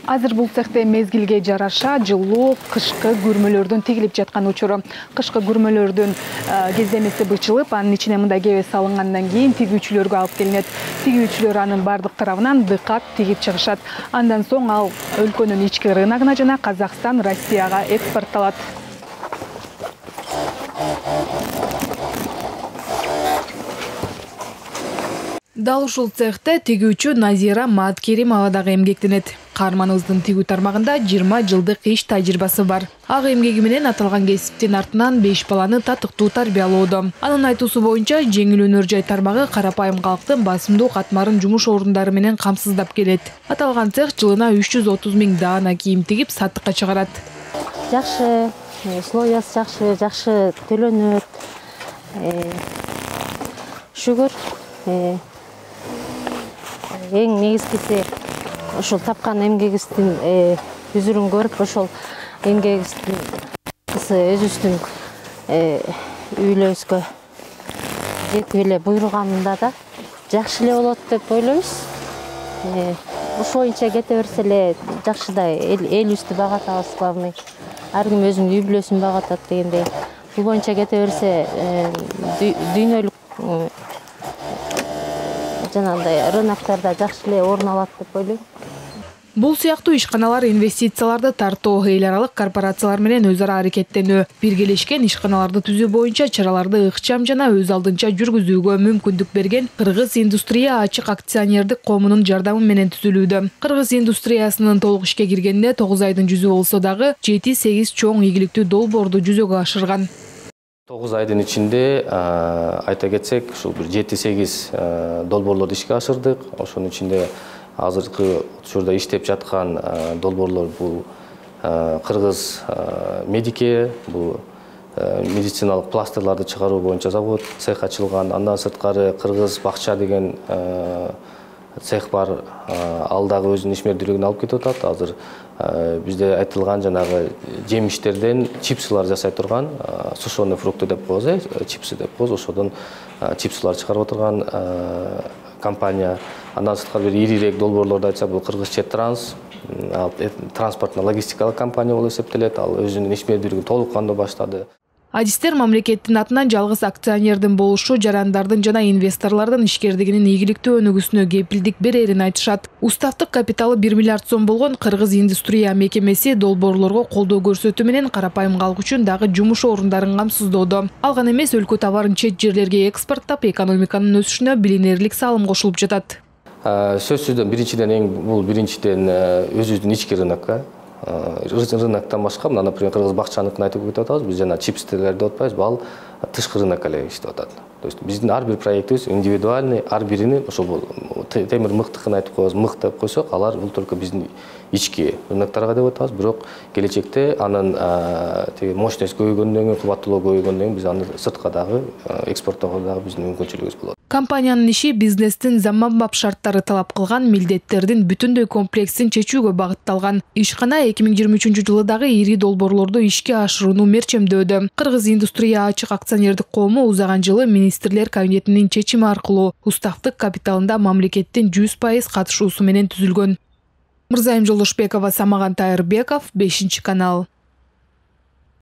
Азыр бул цехте мезгилге жараша жылуу кышкы күрмөлөрдөн тигилип жаткан учуру. Кышкы күрмөлөрдүн кездемеси бычылып, анын ичине мындай кебе салынгандан кийин тигүүчүлөргө алып келинет. Тигүүчүлөр анын бардык тарабынан дыкат тигип чыгышат. Андан соң ал өлкөнүн ички рыногуна жана Казакстан, Россияга экспортталат. Дал ушул цехте тигүүчү Назира Маткеримова дагы эмгектенет. Каарманыбыздын тигүү тармагында 20 жылдык иш тажрыйбасы бар. Ак эмгеги менен аталган кесиптин артынан 5 баланы татыктуу тарбиялоодо. Анын айтуусу боюнча, жеңил өнөр жай тармагы карапайым калктын басымдуу катмарын жумуш орундары менен камсыздап келет. Аталган цех жылына 330 000 даана кийим тигип саттыкка чыгарат. Жакшы, условиясы жакшы төлөнөт. Шүгүр. Эң негизгиси ошол тапкан эмгегибиздин үзүрүн көрүп, ошол эмгегибиздин өзүбүздүн үйлөрүбүзгө жетип эле буйруганда да жакшы эле болот деп ойлойбуз. Ошол боюнча кете берсе эле жакшы да элибизди багатабыз, главный. Ар ким өзүнүн үй бүлөсүн багатат дегендей. Бул боюнча кете берсе дүйнөлүк жанагындай рыноктарда жакшы эле орун алат деп ойлойм. Бул сыяктуу ишканалар инвестицияларды тартуу, эл аралык корпорациялар менен өз ара аракеттенүү, биргелешкен ишканаларды түзүү боюнча чараларды ыкчам жана өз алдынча жүргүзүүгө мүмкүндүк берген Кыргыз индустрия ачык акционердик коомунун жардамы менен түзүлүүдө. Кыргыз индустриясынын толук ишке киргенде 9 айдын жүзү болсо дагы 7-8 чоң ийгиликтүү долбоорду жүзөгө ашырган. 9 айдын ичинде айта кетсек, ушул бир 7-8 долбоорлорду ишке ашырдык. Ошонун ичинде азыркы учурда иштеп жаткан долбоорлор бул Кыргыз медике, бул медициналык пластырларды чыгаруу боюнча завод, цех ачылган. Андан сырткары Кыргыз бакча деген цех бар. Ал дагы өзүнүн ишмердүүлүгүн алып кетип атат. Азыр бизде айтылган жанагы жемиштерден чипсылар жасай турган, сушеный фрукты деп коебуз, чипсы деп коебуз. Ошодон чипсылар чыгарып отурган компания. Андан сырткары бир ирирээк долбоорлорду айтсак, бул Кыргызчет Транс, транспортно-логистикалык компания болуп эсептелет. Ал өзүнүн ишмердүүлүгүн толук кандуу баштады. Адистер мамлекеттин атынан жалгыз акционердин болушу жарандардын жана инвесторлордун ишкердигинин ийгиликтүү өнүгүүсүнө кепилдик берерин айтышат. Уставдык капиталы 1 миллиард сом болгон Кыргыз индустрия мекемеси долбоорлорго колдоо көрсөтүү менен карапайым калк үчүн дагы жумуш орундарын камсыздоодо. Ал гана эмес, өлкө товарын чет жерлерге экспорттап, экономиканын өсүшүнө билинерлик салым кошулуп жатат. Сөзсүздөн биринчиден өзүбүздүн ички рынокко. Рыноктон башка, мына, например, Кыргыз бакчаныкын айтып кетип атабыз. Биз жана чипстерлерди деп атпайбызбы, ал тышкы рынокко эле иштеп атат. То есть биздин ар бир проектибиз индивидуальный, ар бирини ошол темир мыктыкын айтып коебуз, мыкт деп койсок, алар бул только биздин ички рынокторго деп атабыз. Бирок келечекте анын мощность көбөйгөндөн кийин, кубаттуулугу көбөйгөндөн кийин биз аны сыртка дагы экспорттоого дагы биздин мүмкүнчүлүгүбүз болот. Компаниянын иши бизнестин заманбап шарттары талап кылган милдеттердин бүтүндөй комплексин чечүүгө багытталган. Ишкана 2023 жылы дагы ири долбоорлорду ишке ашырууну мерчемдөөдө. Кыргыз индустрия ачык акционердик коому узаган жылы министрлер кабинетинин чечими аркылуу уставдык капиталында мамлекеттин 100% катышуусу менен түзүлгөн. Мырзайым Жолдошбекова, Самаган Тайырбеков, 5 канал.